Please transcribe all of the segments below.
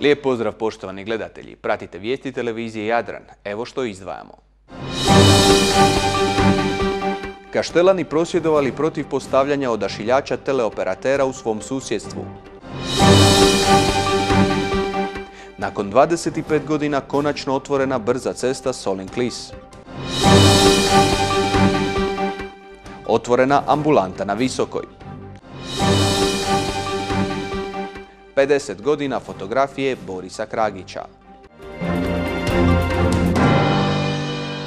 Lijep pozdrav poštovani gledatelji. Pratite vijesti televizije Jadran. Evo što izdvajamo. Kaštelani prosvjedovali protiv postavljanja odašiljača teleoperatera u svom susjedstvu. Nakon 25 godina konačno otvorena brza cesta Solin-Klis. Otvorena ambulanta na Visokoj. 50 godina fotografije Borisa Kragića.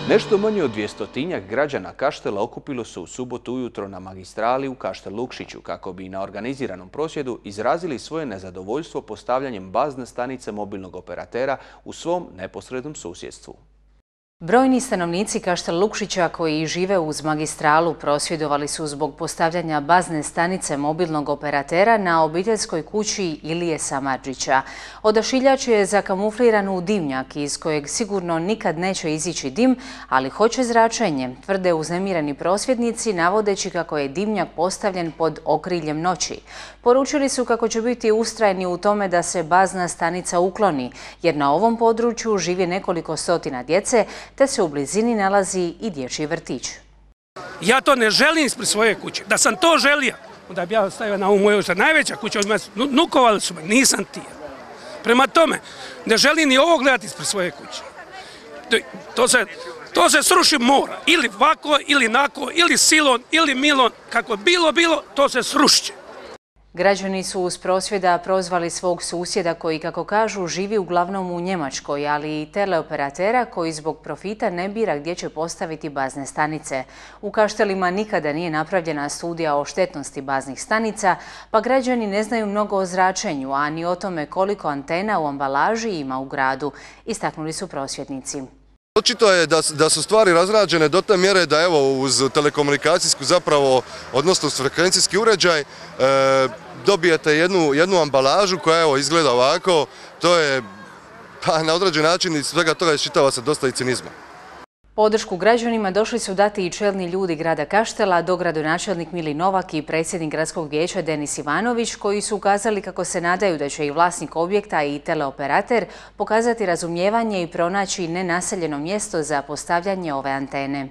Nešto manje od 200-tinjak građana Kaštela okupilo se u subotu ujutro na magistrali u Kaštel Lukšiću kako bi na organiziranom prosvjedu izrazili svoje nezadovoljstvo postavljanjem bazne stanice mobilnog operatera u svom neposrednom susjedstvu. Brojni stanovnici Kaštel Lukšića koji žive uz magistralu prosvjedovali su zbog postavljanja bazne stanice mobilnog operatera na obiteljskoj kući Ilije Samardžića. Odašiljač je zakamufliran u dimnjak iz kojeg sigurno nikad neće izići dim, ali hoće zračenje, tvrde uznemireni prosvjednici navodeći kako je dimnjak postavljen pod okriljem noći. Poručili su kako će biti ustrajni u tome da se bazna stanica ukloni, jer na ovom području živi nekoliko stotina djece, te se u blizini nalazi i dječji vrtić. Ja to ne želim ispred svoje kuće. Da sam to želio, onda bi ja stavio na ovu moju najveća kuća, nukovali su me, nisam ti. Prema tome, ne želim ni ovo gledati ispred svoje kuće. To se sruši mora, ili ovako, ili nako, ili silon, ili milon, kako bilo, to se sruši. Građani su uz prosvjeda prozvali svog susjeda koji, kako kažu, živi uglavnom u Njemačkoj, ali i teleoperatera koji zbog profita ne bira gdje će postaviti bazne stanice. U Kaštelima nikada nije napravljena studija o štetnosti baznih stanica, pa građani ne znaju mnogo o zračenju, a ni o tome koliko antena u ambalaži ima u gradu, istaknuli su prosvjednici. Očito je da su stvari razrađene do te mjere da evo uz telekomunikacijsku zapravo, odnosno uz frekvencijski uređaj, dobijete jednu ambalažu koja evo izgleda ovako, to je pa na određen način iz svega toga iščitava se dosta i cinizma. Podršku građanima došli su dati i čelni ljudi grada Kaštela, dogradonačelnik Mili Novak i predsjednik gradskog vijeća Denis Ivanović, koji su ukazali kako se nadaju da će i vlasnik objekta i teleoperater pokazati razumijevanje i pronaći nenaseljeno mjesto za postavljanje ove antene.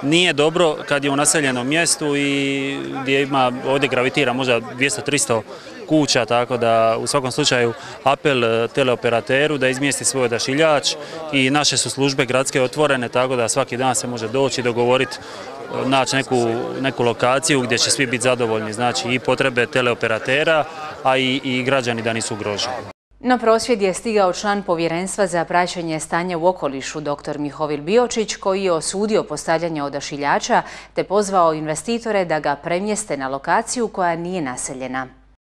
Nije dobro kad je u naseljenom mjestu i gdje ovdje gravitira možda 200-300 kuća, tako da u svakom slučaju apel teleoperateru da izmjesti svoj odašiljač i naše su službe gradske otvorene, tako da svaki dan se može doći, dogovoriti, naći neku lokaciju gdje će svi biti zadovoljni, znači i potrebe teleoperatera, a i građani da nisu ugroženi. Na prosvjed je stigao član Povjerenstva za praćenje stanja u okolišu dr. Mihovil Biočić, koji je osudio postavljanje odašiljača te pozvao investitore da ga premjeste na lokaciju koja nije naseljena.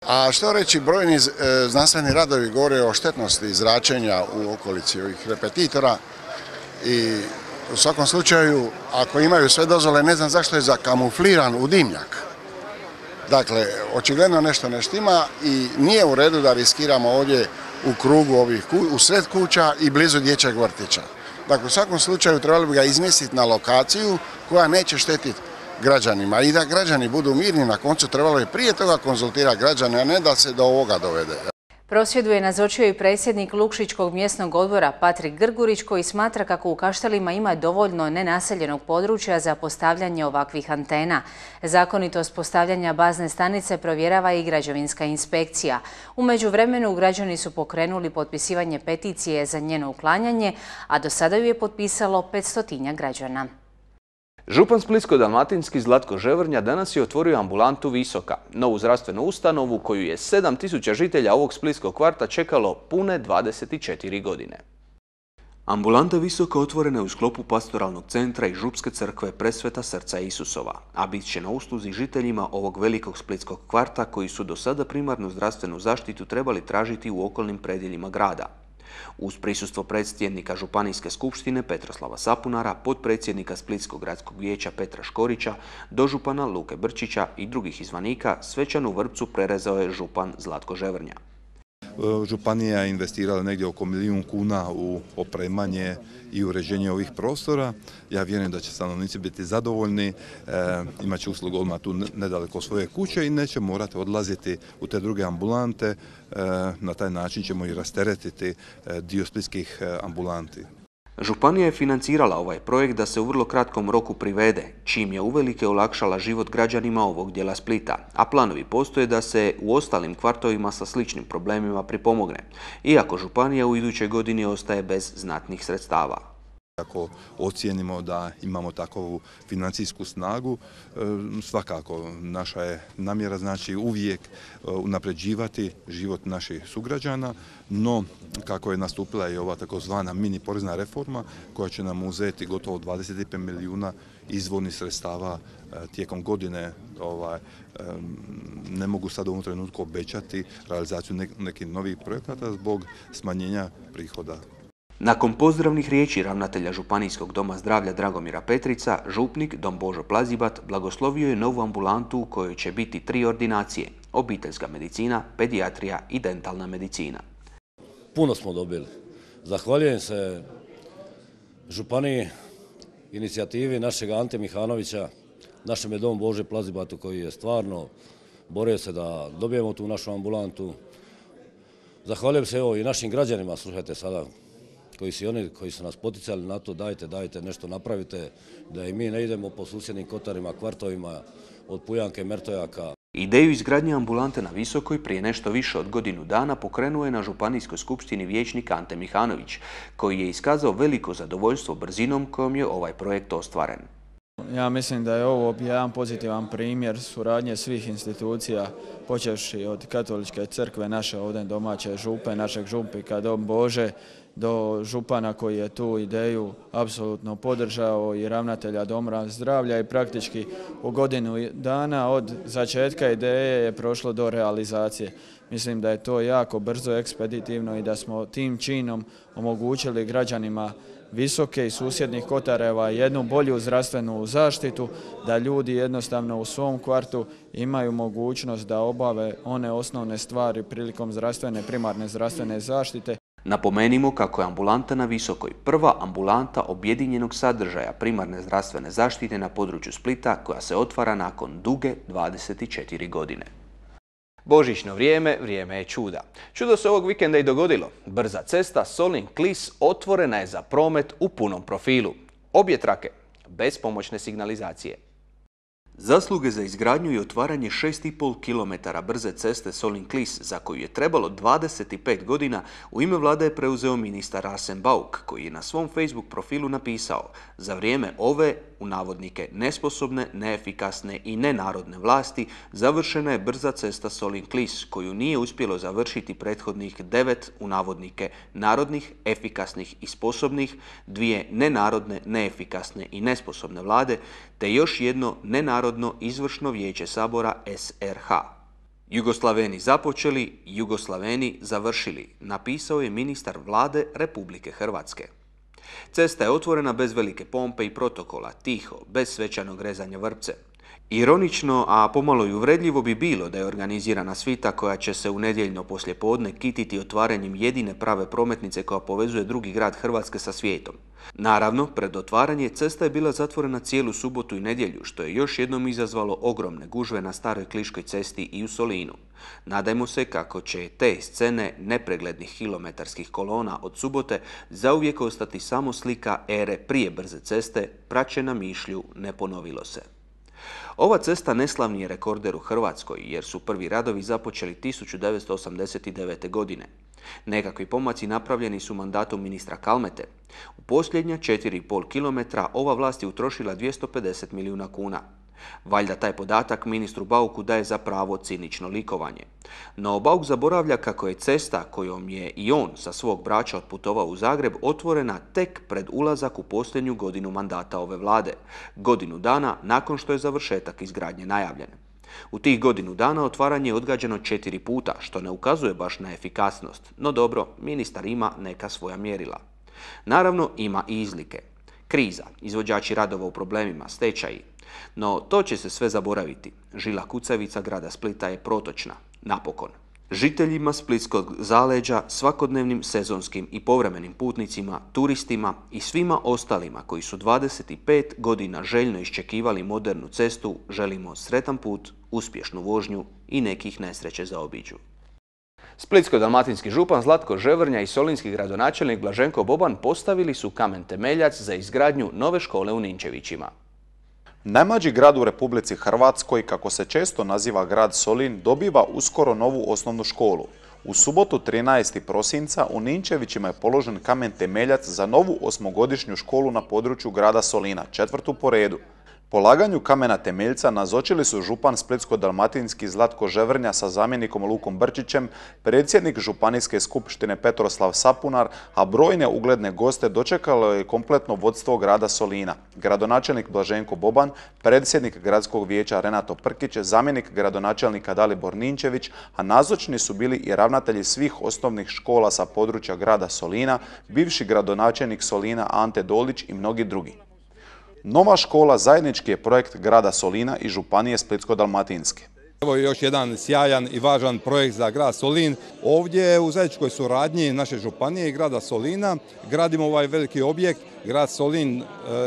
A što reći, brojni znanstveni radovi govore o štetnosti zračenja u okolici ovih repetitora i u svakom slučaju, ako imaju sve dozvole, ne znam zašto je zakamufliran u dimnjak. Dakle, očigledno nešto ne štima i nije u redu da riskiramo ovdje u krugu u sred kuća i blizu dječjeg vrtića. Dakle, u svakom slučaju trebali bi ga izmjestiti na lokaciju koja neće štetiti građanima i da građani budu mirni. Na koncu trebalo je prije toga konzultirati građane, a ne da se do ovoga dovede. Prosvjedu je nazočio i predsjednik Lukšićkog mjesnog odbora Patrik Grgurić, koji smatra kako u Kaštelima ima dovoljno nenaseljenog područja za postavljanje ovakvih antena. Zakonitost postavljanja bazne stanice provjerava i građevinska inspekcija. U međuvremenu građani su pokrenuli potpisivanje peticije za njeno uklanjanje, a do sada ju je potpisalo 500 građana. Župan Splitsko-dalmatinski Zlatko Ževrnja danas je otvorio ambulantu Visoka, novu zdravstvenu ustanovu koju je 7000 žitelja ovog splitskog kvarta čekalo pune 24 godine. Ambulanta Visoka otvorena je u sklopu pastoralnog centra i župske crkve Presveta srca Isusova, a bit će na usluzi žiteljima ovog velikog splitskog kvarta koji su do sada primarnu zdravstvenu zaštitu trebali tražiti u okolnim predjeljima grada. Uz prisustvo predsjednika Županijske skupštine Petroslava Sapunara, potpredsjednika Splitskog gradskog vijeća Petra Škorića, dožupana Luke Brčića i drugih izvanika, svečanu vrpcu prerezao je župan Zlatko Ževrnja. Županija je investirala negdje oko 1 milijun kuna u opremanje i uređenje ovih prostora. Ja vjerujem da će stanovnici biti zadovoljni, imat će uslugu odmah tu nedaleko svoje kuće i neće morati odlaziti u te druge ambulante. Na taj način ćemo i rasteretiti dio splitskih ambulanti. Županija je financirala ovaj projekt da se u vrlo kratkom roku privede, čim je uvelike olakšala život građanima ovog dijela Splita, a planovi postoje da se u ostalim kvartovima sa sličnim problemima pripomogne, iako županija u idućoj godini ostaje bez znatnih sredstava. Ako ocijenimo da imamo takovu financijsku snagu, svakako naša je namjera znači uvijek unapređivati život naših sugrađana, no kako je nastupila i ova takozvana mini porezna reforma koja će nam uzeti gotovo 25 milijuna izvornih sredstava tijekom godine, ne mogu sad u ovom trenutku obećati realizaciju nekih novih projekata zbog smanjenja prihoda. Nakon pozdravnih riječi ravnatelja Županijskog doma zdravlja Dragomira Petrica, župnik Don Božo Plazibat blagoslovio je novu ambulantu u kojoj će biti 3 ordinacije: obiteljska medicina, pedijatrija i dentalna medicina. Puno smo dobili. Zahvaljujem se županiji, inicijativi našeg Ante Mihanovića, našem je Don Bože Plazibatu koji je stvarno borio se da dobijemo tu našu ambulantu. Zahvaljujem se i našim građanima, slušajte sada, koji su nas poticali na to, dajte nešto napravite, da i mi ne idemo po susjednim kotarima, kvartovima, od Pujanke, Mertojaka. Ideju izgradnje ambulante na Visokoj prije nešto više od godinu dana pokrenuo je na Županijskoj skupštini vijećnik Ante Mihanović, koji je iskazao veliko zadovoljstvo brzinom kojom je ovaj projekt ostvaren. Ja mislim da je ovo jedan pozitivan primjer suradnje svih institucija, počevši od Katoličke crkve, naše ovdje domaće župe, našeg župnika Don Bože, do župana koji je tu ideju apsolutno podržao i ravnatelja Doma zdravlja i praktički u godinu dana od začetka ideje je prošlo do realizacije. Mislim da je to jako brzo, ekspeditivno i da smo tim činom omogućili građanima Visoke i susjednih kotareva jednu bolju zdravstvenu zaštitu, da ljudi jednostavno u svom kvartu imaju mogućnost da obave one osnovne stvari prilikom primarne zdravstvene zaštite. Napomenimo kako je ambulanta na Visokoj prva ambulanta objedinjenog sadržaja primarne zdravstvene zaštite na području Splita koja se otvara nakon duge 24 godine. Božićno vrijeme, vrijeme je čuda. Čudo se ovog vikenda i dogodilo. Brza cesta Solin-Klis otvorena je za promet u punom profilu. Obje trake, bez pomoćne signalizacije. Zasluge za izgradnju i otvaranje 6,5 km brze ceste Solin-Klis, za koju je trebalo 25 godina, u ime vlade je preuzeo ministar Arsen Bauk, koji je na svom Facebook profilu napisao: za vrijeme ove, u navodnike, nesposobne, neefikasne i nenarodne vlasti, završena je brza cesta Solin-Klis, koju nije uspjelo završiti prethodnih 9, u navodnike, narodnih, efikasnih i sposobnih, 2 nenarodne, neefikasne i nesposobne vlade, te još jedno nenarodno izvršno vijeće Sabora SRH. Jugoslaveni započeli, Jugoslaveni završili, napisao je ministar vlade Republike Hrvatske. Cesta je otvorena bez velike pompe i protokola, tiho, bez svečanog rezanja vrpce. Ironično, a pomalo i uvredljivo bi bilo da je organizirana svita koja će se u nedjeljno poslijepodne kititi otvaranjem jedine prave prometnice koja povezuje drugi grad Hrvatske sa svijetom. Naravno, pred otvaranje cesta je bila zatvorena cijelu subotu i nedjelju, što je još jednom izazvalo ogromne gužve na staroj Kliškoj cesti i u Solinu. Nadajmo se kako će te scene nepreglednih kilometarskih kolona od subote zauvijek ostati samo slika ere prije brze ceste, praćena mišlju ne ponovilo se. Ova cesta neslavni je rekorder u Hrvatskoj jer su prvi radovi započeli 1989. godine. Nekakvi pomaci napravljeni su mandatom ministra Kalmete. U posljednja 4,5 km ova vlast je utrošila 250 milijuna kuna. Valjda taj podatak ministru Bauku daje za pravo cinično likovanje. No Bauk zaboravlja kako je cesta kojom je i on sa svog Brača otputovao u Zagreb otvorena tek pred ulazak u posljednju godinu mandata ove vlade, godinu dana nakon što je završetak izgradnje najavljen. U tih godinu dana otvaranje je odgađano 4 puta, što ne ukazuje baš na efikasnost, no dobro, ministar ima neka svoja mjerila. Naravno, ima i izlike. Kriza, izvođači radova u problemima, stečaji. No to će se sve zaboraviti. Žila kucavica grada Splita je protočna, napokon. Žiteljima splitskog zaleđa, svakodnevnim sezonskim i povremenim putnicima, turistima i svima ostalima koji su 25 godina željno iščekivali modernu cestu, želimo sretan put, uspješnu vožnju i nekih nesreće zaobiđu. Splitsko-dalmatinski župan Zlatko Ževrnja i solinski gradonačelnik Blaženko Boban postavili su kamen temeljac za izgradnju nove škole u Ninčevićima. Najmlađi grad u Republici Hrvatskoj, kako se često naziva grad Solin, dobiva uskoro novu osnovnu školu. U subotu 13. prosinca u Ninčevićima je položen kamen temeljac za novu osmogodišnju školu na području grada Solina, 4. po redu. Polaganju kamena temeljca nazočili su župan Splitsko-dalmatinski Zlatko Ževrnja sa zamjenikom Lukom Brčićem, predsjednik Županijske skupštine Petroslav Sapunar, a brojne ugledne goste dočekalo je kompletno vodstvo grada Solina. Gradonačelnik Blaženko Boban, predsjednik gradskog vijeća Renato Prkić, zamjenik gradonačelnika Dalibor Ninčević, a nazočni su bili i ravnatelji svih osnovnih škola sa područja grada Solina, bivši gradonačelnik Solina Ante Dolić i mnogi drugi. Nova škola zajednički je projekt grada Solina i Županije Splitsko-dalmatinske. Evo još jedan sjajan i važan projekt za grad Solin. Ovdje u zajedničkoj suradnji naše županije i grada Solina gradimo ovaj veliki objekt. Grad Solin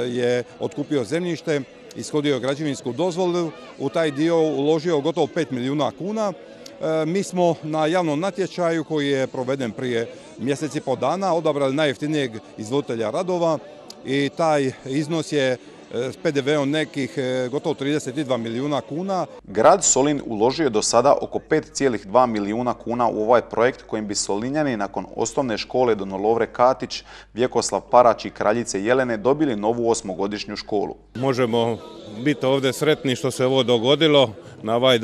je otkupio zemljište, ishodio građevinsku dozvolu, u taj dio uložio gotovo 5 milijuna kuna. Mi smo na javnom natječaju koji je proveden prije mjesec i pol dana odabrali najjeftinijeg izvoditelja radova i taj iznos je s PDV-om nekih gotovo 32 milijuna kuna. Grad Solin uložio je do sada oko 5,2 milijuna kuna u ovaj projekt kojim bi Solinjani nakon osnovne škole Don Lovre Katić, Vjekoslav Parać i Kraljice Jelene dobili novu osmogodišnju školu. Možemo biti ovdje sretni što se ovo dogodilo na ovaj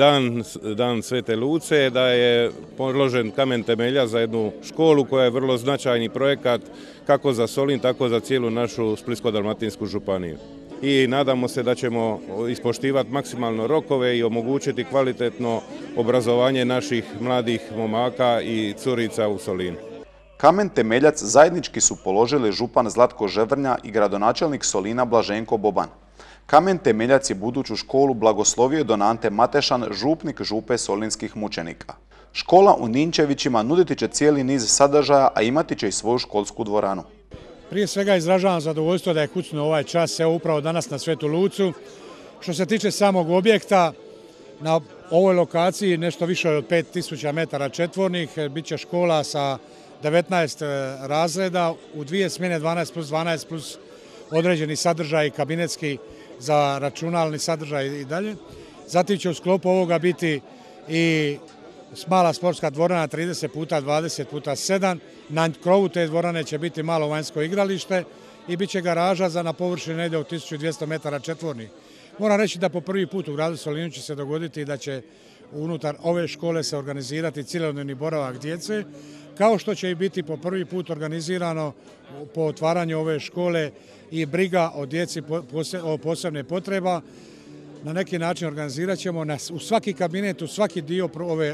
dan Svete Luce, da je položen kamen temelja za jednu školu koja je vrlo značajni projekat kako za Solin, tako za cijelu našu Splitsko-dalmatinsku županiju. I nadamo se da ćemo ispoštivati maksimalno rokove i omogućiti kvalitetno obrazovanje naših mladih momaka i curica u Solinu. Kamen temeljac zajednički su položili župan Zlatko Ževrnja i gradonačelnik Solina Blaženko Boban. Kamen temeljac je buduću školu blagoslovio don Ante Matešan, župnik župe solinskih mučenika. Škola u Ninčevićima nuditi će cijeli niz sadržaja, a imati će i svoju školsku dvoranu. Prije svega izražavam zadovoljstvo da je kucnuo ovaj čas, evo upravo danas na Svetu Lucu. Što se tiče samog objekta, na ovoj lokaciji nešto više od 5000 metara četvornih, bit će škola sa 19 razreda u 2 smjene 12+12 plus određeni sadržaj kabinetski za računalni sadržaj i dalje. Zatim će u sklopu ovoga biti i mala sportska dvorana 30x20x7. Na krovu te dvorane će biti malo vanjsko igralište i bit će garaža na površini negdje od 1200 metara četvornih. Moram reći da po prvi put u gradu Solinu će se dogoditi da će unutar ove škole se organizirati cjelodnevni boravak djece, kao što će i biti po prvi put organizirano po otvaranju ove škole i briga o djeci o posebne potreba. Na neki način organizirat ćemo u svaki kabinet, u svaki dio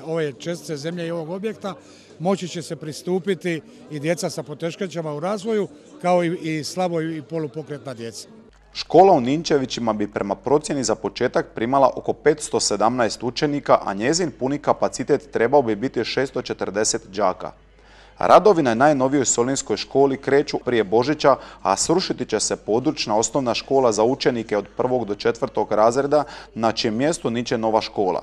ove čestice zemlje i ovog objekta moći će se pristupiti i djeca sa poteškoćama u razvoju, kao i slabo i polupokretna djeca. Škola u Ninčevićima bi prema procjeni za početak primala oko 517 učenika, a njezin puni kapacitet trebao bi biti 640 đaka. Radovi na najnovijoj solinskoj školi kreću prije Božića, a srušiti će se područna osnovna škola za učenike od 1. do 4. razreda, na čijem mjestu niče nova škola.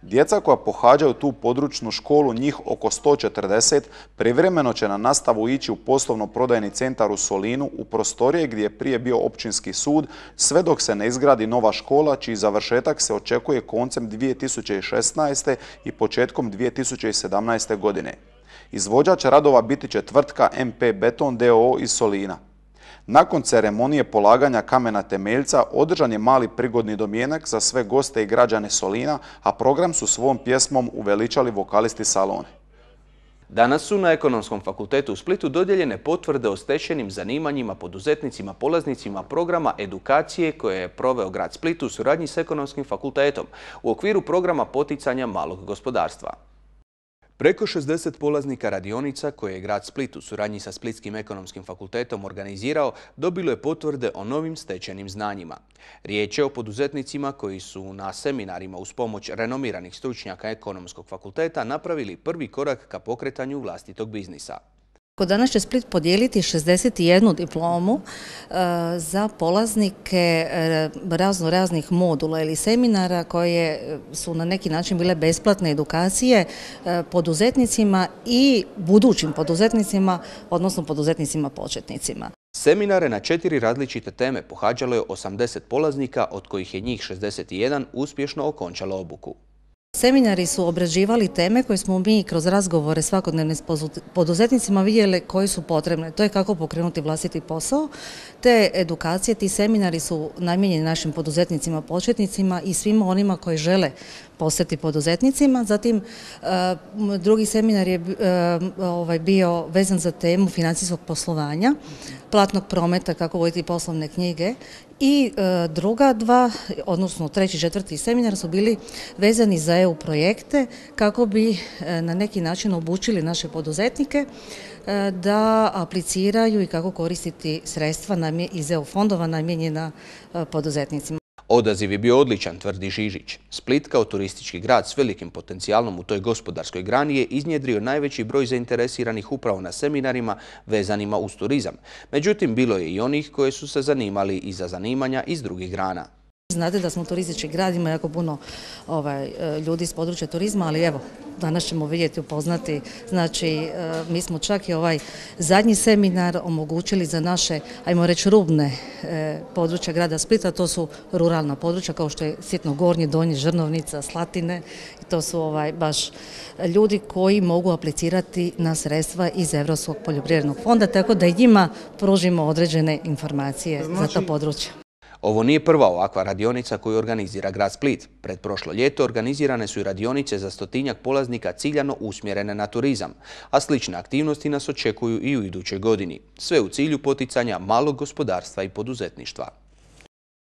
Djeca koja pohađaju tu područnu školu, njih oko 140, privremeno će na nastavu ići u poslovno-prodajni centar u Solinu, u prostorije gdje je prije bio općinski sud, sve dok se ne izgradi nova škola, čiji završetak se očekuje koncem 2016. i početkom 2017. godine. Izvođač radova biti će tvrtka MP Beton d.o.o. iz Solina. Nakon ceremonije polaganja kamena temeljca održan je mali prigodni domjenak za sve goste i građane Solina, a program su svom pjesmom uveličali vokalisti Salone. Danas su na Ekonomskom fakultetu u Splitu dodijeljene potvrde o stečenim zanimanjima poduzetnicima polaznicima programa edukacije koje je proveo grad Split u suradnji s Ekonomskim fakultetom u okviru programa poticanja malog gospodarstva. Preko 60 polaznika radionica koje je grad Split u suradnji sa Splitskim ekonomskim fakultetom organizirao dobilo je potvrde o novim stečenim znanjima. Riječ je o poduzetnicima koji su na seminarima uz pomoć renomiranih stručnjaka ekonomskog fakulteta napravili prvi korak ka pokretanju vlastitog biznisa. Danas će Split podijeliti 61 diplomu za polaznike raznih modula ili seminara koje su na neki način bile besplatne edukacije poduzetnicima i budućim poduzetnicima, odnosno poduzetnicima početnicima. Seminare na 4 različite teme pohađalo je 80 polaznika, od kojih je njih 61 uspješno okončalo obuku. Seminari su obrađivali teme koje smo mi kroz razgovore svakodnevne s poduzetnicima vidjeli koje su potrebne. To je kako pokrenuti vlastiti posao. Te edukacije, ti seminari su namijenjeni našim poduzetnicima, početnicima i svima onima koji žele postati poduzetnicima. Zatim, drugi seminar je bio vezan za temu financijskog poslovanja, platnog prometa, kako voditi poslovne knjige. I druga dva, odnosno treći i četvrti seminar su bili vezani za EU projekte kako bi na neki način obučili naše poduzetnike da apliciraju i kako koristiti sredstva iz EU fondova namijenjena poduzetnicima. Odaziv je bio odličan, tvrdi Žižić. Split kao turistički grad s velikim potencijalom u toj gospodarskoj grani je iznjedrio najveći broj zainteresiranih upravo na seminarima vezanima uz turizam. Međutim, bilo je i onih koji su se zanimali i za zanimanja iz drugih grana. Znate da smo turistički grad, ima jako puno ljudi iz područja turizma, ali evo, danas ćemo vidjeti, upoznati. Znači, mi smo čak i ovaj zadnji seminar omogućili za naše, ajmo reći, rubne područja grada Splita. To su ruralna područja kao što je Sitno Gornje, Donje, Žrnovnica, Slatine. I to su baš ljudi koji mogu aplicirati na sredstva iz Europskog poljoprivrednog fonda, tako da i njima pružimo određene informacije za to područje. Ovo nije prva ovakva radionica koju organizira grad Split. Pred prošlo ljeto organizirane su i radionice za 100-tinjak polaznika ciljano usmjerene na turizam, a slične aktivnosti nas očekuju i u idućoj godini. Sve u cilju poticanja malog gospodarstva i poduzetništva.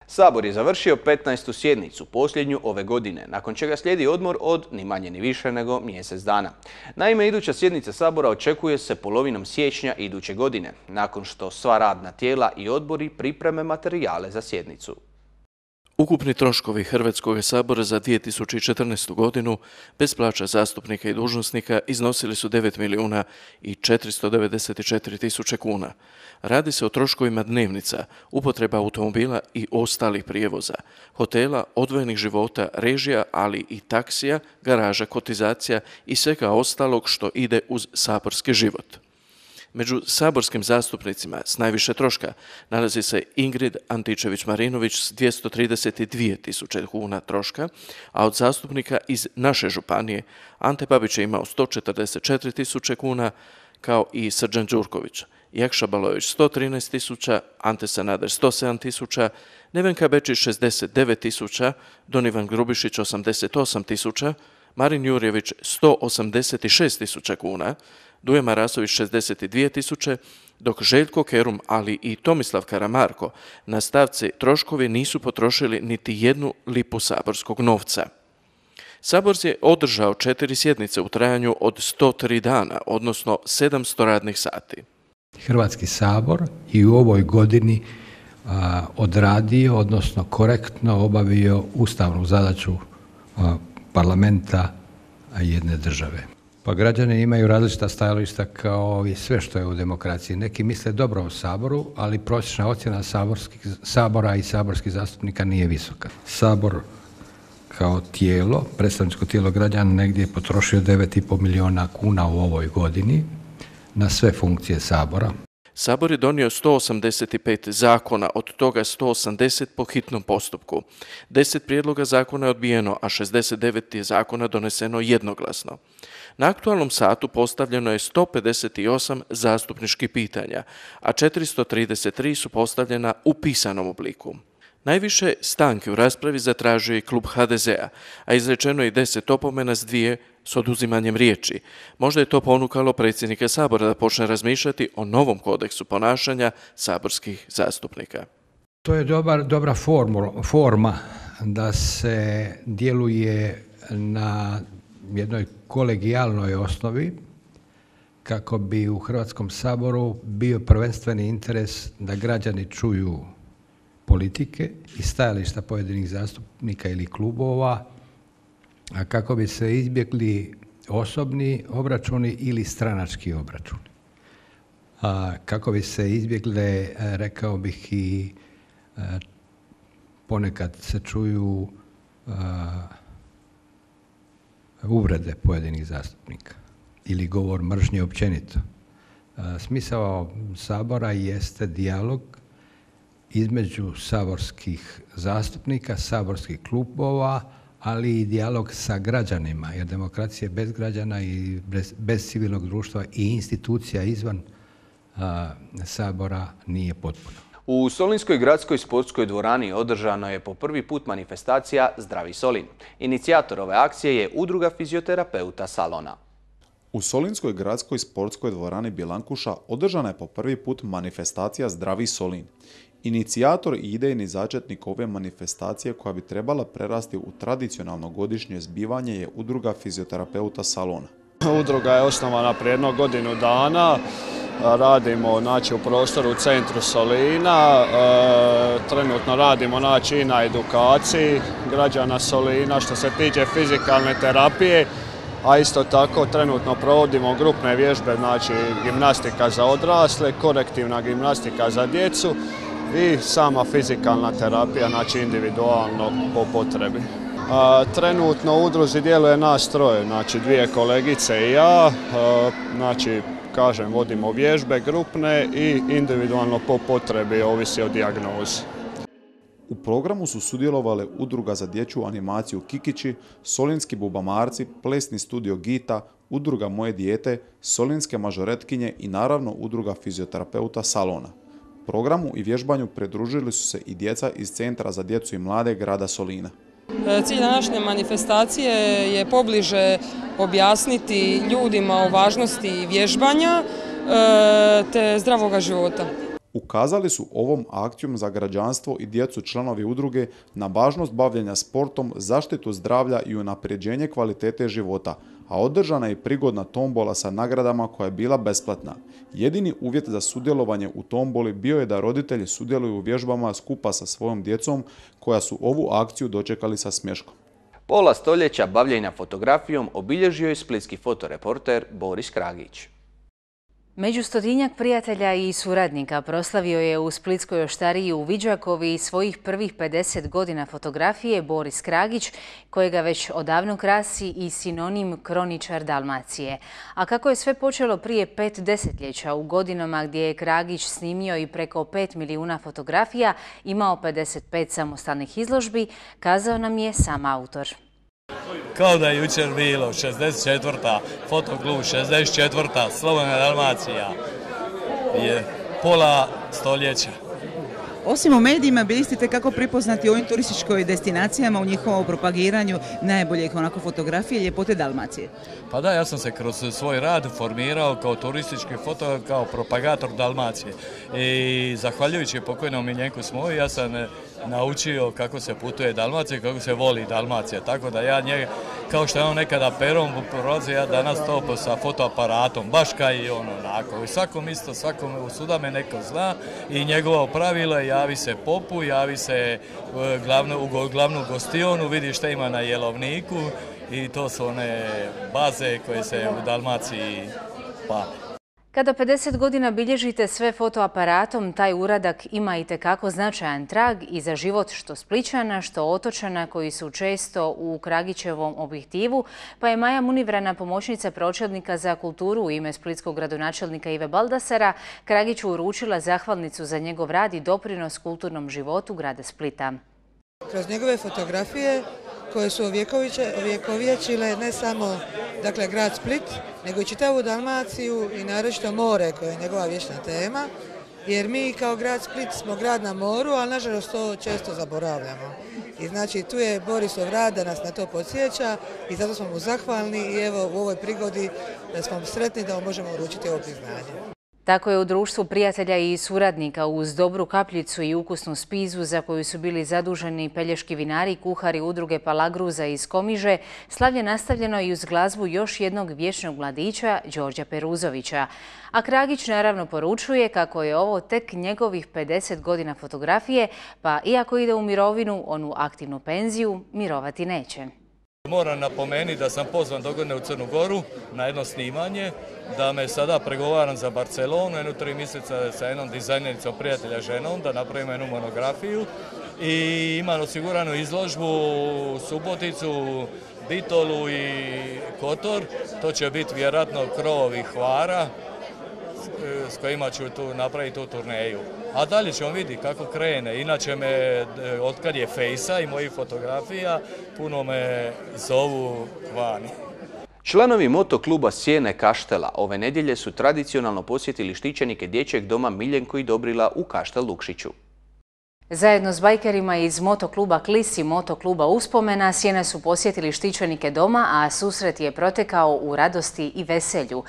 Sabor je završio 15. sjednicu, posljednju ove godine, nakon čega slijedi odmor od ni manje ni više nego mjesec dana. Naime, iduća sjednica Sabora očekuje se polovinom siječnja iduće godine, nakon što sva radna tijela i odbori pripreme materijale za sjednicu. Ukupni troškovi Hrvatskog sabora za 2014. godinu bez plaća zastupnika i dužnosnika iznosili su 9.494.000 kuna. Radi se o troškovima dnevnica, upotreba automobila i ostalih prijevoza, hotela, odvojenih života, režija, ali i taksija, garaža, kotizacija i svega ostalog što ide uz saborski život. Među saborskim zastupnicima s najviše troška nalazi se Ingrid Antičević-Marinović s 232.000 kuna troška, a od zastupnika iz naše županije Ante Babić je imao 144.000 kuna, kao i Srđan Đurković. Jakša Balojević 113.000, Ante Sanader 107.000, Nevenka Bečić 69.000, Don Ivan Grubišić 88.000, Marin Jurjević 186.000 kuna, Duje Marasović 62.000, dok Željko Kerum, ali i Tomislav Karamarko na stavci troškovi nisu potrošili niti 1 lipu saborskog novca. Sabor je održao 4 sjednice u trajanju od 103 dana, odnosno 700 radnih sati. Hrvatski sabor i u ovoj godini odradio, odnosno korektno obavio ustavnu zadaću parlamenta jedne države. Pa građani imaju različita stajališta kao i sve što je u demokraciji. Neki misle dobro o Saboru, ali prosječna ocjena Sabora i saborskih zastupnika nije visoka. Sabor kao tijelo, predstavničko tijelo građana, negdje je potrošio 9,5 milijuna kuna u ovoj godini na sve funkcije Sabora. Sabor je donio 185 zakona, od toga 180 po hitnom postupku. 10 prijedloga zakona je odbijeno, a 69 je zakona doneseno jednoglasno. Na aktualnom satu postavljeno je 158 zastupničkih pitanja, a 433 su postavljena u pisanom obliku. Najviše stanke u raspravi zatražio je klub HDZ-a, a izrečeno je 10 opomena s 2 s oduzimanjem riječi. Možda je to ponukalo predsjednika Sabora da počne razmišljati o novom kodeksu ponašanja saborskih zastupnika. To je dobra forma da se djeluje na jednoj kolegijalnoj osnovi kako bi u Hrvatskom saboru bio prvenstveni interes da građani čuju politike i stajališta pojedinih zastupnika ili klubova, a kako bi se izbjegli osobni obračuni ili stranački obračuni. Kako bi se izbjegle, rekao bih, i ponekad se čuju uvrede pojedinih zastupnika ili govor mržnje općenito. Smisao Sabora jeste dijalog između saborskih zastupnika, saborskih klubova, ali i dijalog sa građanima, jer demokracija bez građana i bez civilnog društva i institucija izvan Sabora nije potpuna. U Solinskoj gradskoj sportskoj dvorani održano je po prvi put manifestacija Zdravi Solin. Inicijator ove akcije je Udruga fizioterapeuta Salona. U Solinskoj gradskoj sportskoj dvorani Bilankuša održana je po prvi put manifestacija Zdravi Solin. Inicijator i idejni začetnik ove manifestacije, koja bi trebala prerasti u tradicionalno godišnje zbivanje, je Udruga fizioterapeuta Salona. Udruga je osnovana prije jedno godinu dana. Radimo u prostoru u centru Solina. Trenutno radimo i na edukaciji građana Solina što se tiče fizikalne terapije, a isto tako trenutno provodimo grupne vježbe, gimnastika za odrasle, korektivna gimnastika za djecu i sama fizikalna terapija, individualno po potrebi. Trenutno u udruzi djeluje nas troje, dvije kolegice i ja, vodimo vježbe grupne i individualno po potrebi, ovisi o dijagnozi. U programu su sudjelovale Udruga za dječju animaciju Kikići, Solinski bubamarci, Plesni studio Gita, Udruga Moje dijete, Solinske mažoretkinje i naravno Udruga fizioterapeuta Salona. Programu i vježbanju pridružili su se i djeca iz Centra za djecu i mlade grada Solina. Cilj današnje manifestacije je pobliže objasniti ljudima o važnosti vježbanja te zdravoga života. Ukazali su ovom akcijom za građanstvo i djecu članovi udruge na važnost bavljenja sportom, zaštitu zdravlja i unapređenje kvalitete života, a održana je i prigodna tombola sa nagradama koja je bila besplatna. Jedini uvjet za sudjelovanje u tomboli bio je da roditelji sudjeluju u vježbama skupa sa svojom djecom, koja su ovu akciju dočekali sa smješkom. Pola stoljeća bavljenja fotografijom obilježio je splitski fotoreporter Boris Kragić. Među 100-tinjak prijatelja i suradnika proslavio je u Splitskoj oštariji u Viđakovi svojih prvih 50 godina fotografije Boris Kragić, kojega već odavno krasi i sinonim kroničar Dalmacije. A kako je sve počelo prije 5 desetljeća, u godinama gdje je Kragić snimio i preko 5 milijuna fotografija, imao 55 samostalnih izložbi, kazao nam je sam autor. Kao da je jučer bilo, 64. Fotoklub, 64. Slobodna Dalmacija, je pola stoljeća. Osim u medijima, bili ste kako prepoznati u ovim turističkoj destinacijama, u njihovom propagiranju najboljih fotografije i ljepote Dalmacije. Pa da, ja sam se kroz svoj rad formirao kao turistički fotograf, kao propagator Dalmacije. I zahvaljujući pokojnom Miljenku Smoji, ja sam naučio kako se putuje Dalmacija, kako se voli Dalmacija. Tako da ja njega, kao što je on nekada perom prolazio, ja danas to sa fotoaparatom, baš kao i on onako. I svakom isto, svakom suda me neko zna i njegovo pravilo je javi se popu, javi se u glavnu gostionu, vidi šta ima na jelovniku i to su one baze koje se u Dalmaciji pale. Kada 50 godina bilježite sve fotoaparatom, taj uradak ima itekako značajan trag i za život što Splićana, što otočana koji su često u Kragićevom objektivu, pa je Maja Munivrana, pomoćnica pročelnika za kulturu u ime splitskog gradonačelnika Ive Baldasara, Kragiću uručila zahvalnicu za njegov rad i doprinos kulturnom životu grada Splita. Kroz njegove fotografije koje su ovjekovječile ne samo grad Split, nego i čitavu Dalmaciju i naročito more koje je njegova vječna tema, jer mi kao grad Split smo grad na moru, ali nažalost to često zaboravljamo. I znači tu je Borisov rad da nas na to podsjeća i zato smo mu zahvalni i evo u ovoj prigodi da smo sretni da mu možemo uručiti ovo priznanje. Tako je u društvu prijatelja i suradnika uz dobru kapljicu i ukusnu spizu za koju su bili zaduženi pelješki vinari i kuhari udruge Palagruza iz Komiže, slavlje nastavljeno i uz glazbu još jednog vječnog mladića, Đorđa Peruzovića. A Kragić naravno poručuje kako je ovo tek njegovih 50 godina fotografije, pa iako ide u mirovinu, onu aktivnu penziju, mirovati neće. Moram napomenuti da sam pozvan dogodine u Crnu Goru na jedno snimanje, da me sada pregovaram za Barcelonu, 3 mjeseca sa jednom dizajnericom prijatelja ženom, da napravimo jednu monografiju i imam osiguranu izložbu u Suboticu, Bitolu i Kotor. To će biti vjerojatno krovovi Hvara s kojima ću tu napraviti tu turneju. A dalje ćemo vidjeti kako krene. Inače me, otkad je fejsa i mojih fotografija, puno me zovu vani. Članovi motokluba Sjene Kaštela ove nedjelje su tradicionalno posjetili štićenike dječjeg doma Miljenko i Dobrila u Kaštel Lukšiću. Zajedno s bajkerima iz motokluba Klis i motokluba Uspomena Sjene su posjetili štićenike doma, a susret je protekao u radosti i veselju.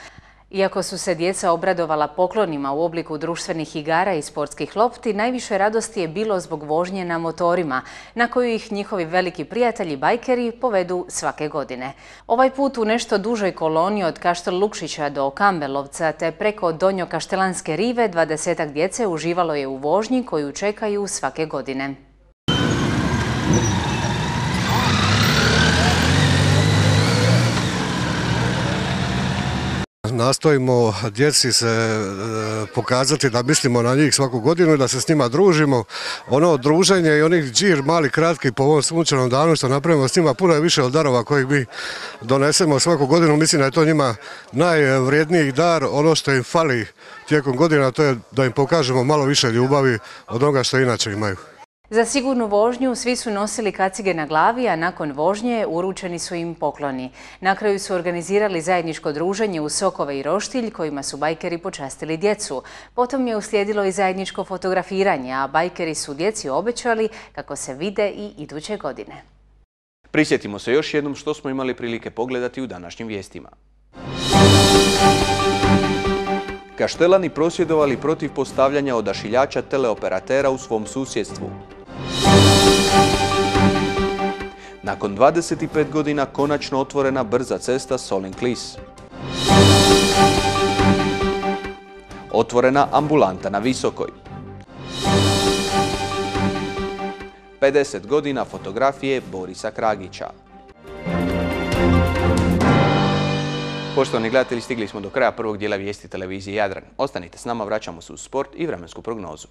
Iako su se djeca obradovala poklonima u obliku društvenih igara i sportskih lopti, najviše radosti je bilo zbog vožnje na motorima, na koju ih njihovi veliki prijatelji bajkeri povedu svake godine. Ovaj put u nešto dužoj koloni od Kaštel Lukšića do Kambelovca te preko Donjo Kaštelanske rive 20-ak djece uživalo je u vožnji koju čekaju svake godine. Nastojimo djeci se pokazati da mislimo na njih svaku godinu i da se s njima družimo. Ono druženje i onih džir mali kratki po ovom sunčanom danu što napravimo s njima puno je više od darova kojih mi donesemo svaku godinu. Mislim da je to njima najvrijedniji dar. Ono što im fali tijekom godina to je da im pokažemo malo više ljubavi od onoga što inače imaju. Za sigurnu vožnju svi su nosili kacige na glavi, a nakon vožnje uručeni su im pokloni. Na kraju su organizirali zajedničko druženje u Sokove i Roštilj, kojima su bajkeri počastili djecu. Potom je uslijedilo i zajedničko fotografiranje, a bajkeri su djeci obećali kako se vide i iduće godine. Prisjetimo se još jednom što smo imali prilike pogledati u današnjim vijestima. Kaštelani prosvjedovali protiv postavljanja odašiljača teleoperatera u svom susjedstvu. Nakon 25 godina konačno otvorena brza cesta Solin-Klis. Otvorena ambulanta na Visokoj. 50 godina fotografije Borisa Kragića. Poštovani gledatelji, stigli smo do kraja prvog dijela vijesti televizije Jadran. Ostanite s nama, vraćamo se u sport i vremensku prognozu.